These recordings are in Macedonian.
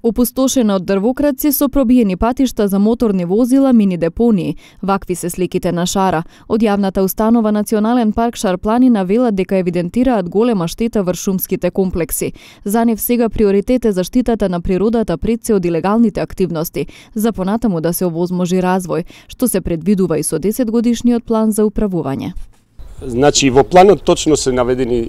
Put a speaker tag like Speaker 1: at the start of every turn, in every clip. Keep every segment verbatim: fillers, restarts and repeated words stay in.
Speaker 1: Опустошена од дрвокраци со пробиени патишта за моторни возила, мини депонии. Вакви се сликите на Шара. Од јавната установа Национален парк Шар планина велат дека евидентираат голема штета врз шумските комплекси. За нив сега приоритет е заштитата на природата пред се од илегалните активности, за понатаму да се овозможи развој, што се предвидува и со десетгодишниот план за управување.
Speaker 2: Значи, во планот точно се наведени е,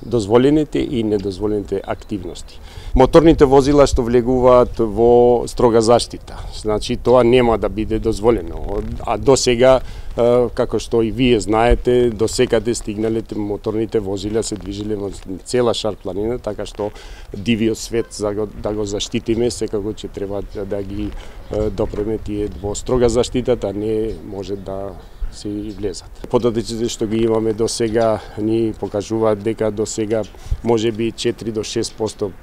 Speaker 2: дозволените и недозволените активности. Моторните возила што влегуваат во строга заштита, значи тоа нема да биде дозволено. А до сега, е, како што и вие знаете, до секаде стигналите моторните возила се движеле во цела Шар планина, така што дивиот свет за го, да го заштитиме, секако ќе треба да ги е, допреме тие во строга заштитата, не може да се влезат. Податоците што ги имаме до сега ни покажуваат дека до сега можеби четири до шест проценти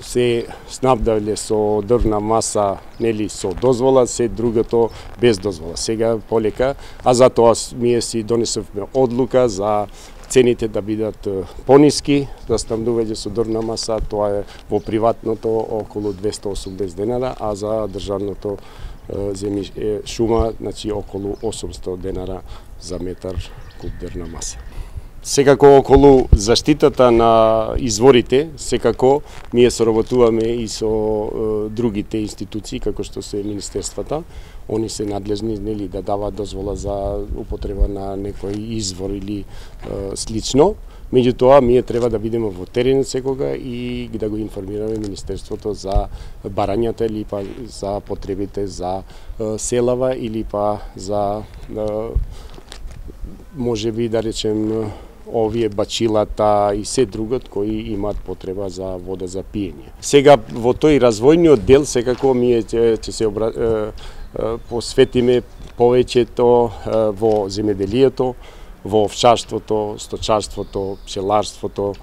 Speaker 2: се снабдале со дрвна маса, нели со дозвола, се другото без дозвола. Сега полека, а затоа ние си донесовме одлука за цените да бидат пониски, за снабдување со дрвна маса, тоа е во приватното околу двесте и осумдесет денара, а за државното земји шума, значи околу осумстотини денара за метар куб дрвна маса. Секако околу заштитата на изворите, секако ние соработуваме и со е, другите институции, како што се министерствата. Они се надлежни, нели, да даваат дозвола за употреба на некој извор или е, слично. Меѓутоа, ние треба да бидеме во терен секога и да го информираме Министерството за барањата или па за потребите за е, селава или па за е, можеби да речем овие бачилата и се другот кои имаат потреба за вода за пиење. Сега во тој развојниот дел секако ние ќе, ќе се обра... е, е, посветиме повеќето е, во земјоделието, во овчарството, сточарството, пчеларството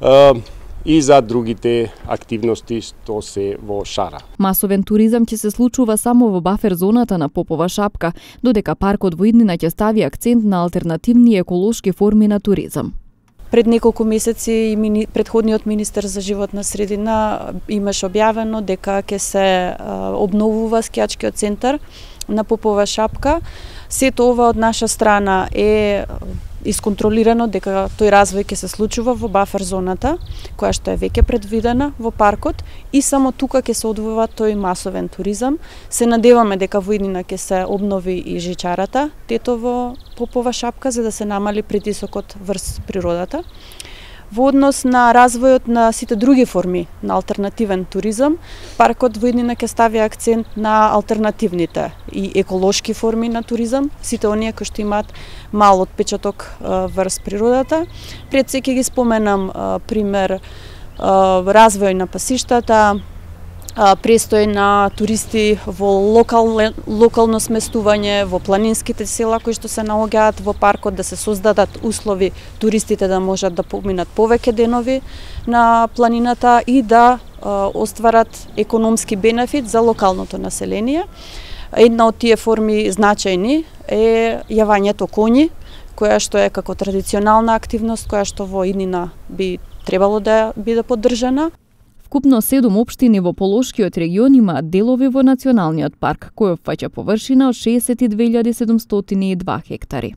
Speaker 2: е, и за другите активности што се во Шара.
Speaker 1: Масовен туризам ќе се случува само во бафер зоната на Попова шапка, додека паркот во иднина ќе стави акцент на алтернативни еколошки форми на туризам.
Speaker 3: Пред неколку месеци и мини, предходниот министер за животна средина имаше објавено дека ќе се а, обновува скијачкиот центар на Попова шапка. Сето ова од наша страна е исконтролирано дека тој развој ќе се случува во бафер зоната, која што е веќе предвидена во паркот и само тука ќе се одвива тој масовен туризам. Се надеваме дека во иднина ќе се обнови и жичарата Тетово Попова шапка за да се намали притисокот врз природата. Во однос на развојот на сите други форми на алтернативен туризам, паркот во иднина ќе стави акцент на алтернативните и еколошки форми на туризам, сите оние кои што имаат мал отпечаток врз природата. Пред се ќе ги споменам пример развој на пасиштата, престој на туристи во локал, локално сместување во планинските села кои што се наоѓаат во паркот, да се создадат услови туристите да можат да поминат повеќе денови на планината и да а, остварат економски бенефит за локалното население. Една од тие форми значајни е јавањето коњи, која што е како традиционална активност, која што во иднина би требало да биде поддржана.
Speaker 1: Вкупно седум општини во Полошкиот регион имаат делови во Националниот парк, кој опфаќа површина од шеесет и две илјади седумстотини и два хектари.